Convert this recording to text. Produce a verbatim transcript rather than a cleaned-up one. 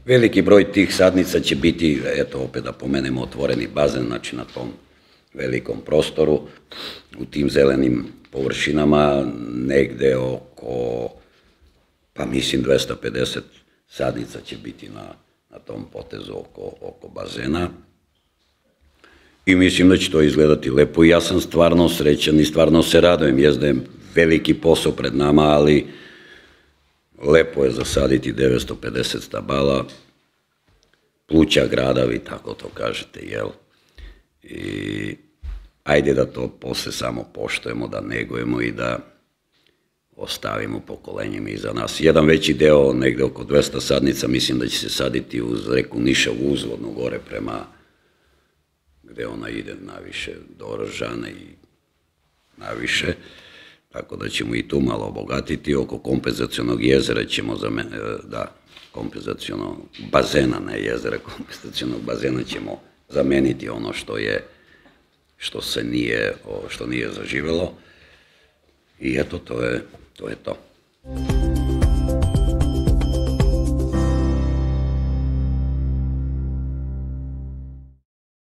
veliki broj tih sadnica će biti, eto opet da pomenemo, otvoreni bazen, znači na tom velikom prostoru, u tim zelenim površinama, negde oko, pa mislim dvesta pedeset sadnica će biti na tom potezu oko bazena. I mislim da će to izgledati lepo i ja sam stvarno srećan i stvarno se radujem, jest da je veliki posao pred nama, ali lepo je zasaditi devetsto pedeset stabala, pluća grada, vi tako to kažete, jel? I ajde da to posle samo poštujemo, da negujemo i da ostavimo pokolenjima iza nas. Jedan veći deo, negde oko dvesta sadnica, mislim da će se saditi uz reku Niša uzvodno gore prema gde ona ide naviše do Oržana i naviše, tako da ćemo i tu malo obogatiti. Oko kompenzacionog jezera ćemo, da, kompenzacionog bazena, ne jezera, kompenzacionog bazena ćemo zameniti ono što je, što se nije, što nije zaživelo i eto, to je to.